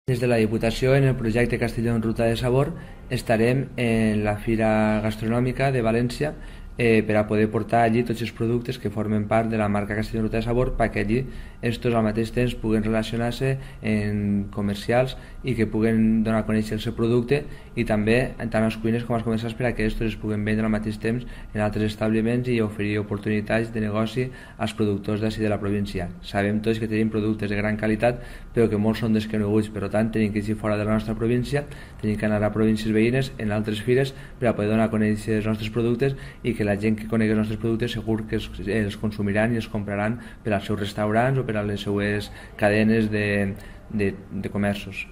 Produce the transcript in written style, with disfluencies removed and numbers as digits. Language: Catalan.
Des de la Diputació, en el projecte Castelló en Ruta de Sabor, estarem en la Fira Gastronòmica de València per a poder portar allí tots els productes que formen part de la marca Castelló en Ruta de Sabor, perquè allí estos al mateix temps puguen relacionar-se en comercials i que puguen donar a conèixer el seu producte, i també tant als cuiners com als comercials, per a que estos es puguen vendre al mateix temps en altres establiments i oferir oportunitats de negoci als productors d'ací de la província. Sabem tots que tenim productes de gran qualitat, però que molts són desconeguts, per tant tenim que ir fora de la nostra província, tenim que anar a províncies veïnes, en altres fires, per a poder donar a conèixer els nostres productes, i que la gent que conegui els nostres productes segur que els consumiran i els compraran per als seus restaurants o per a les seues cadenes de comerços.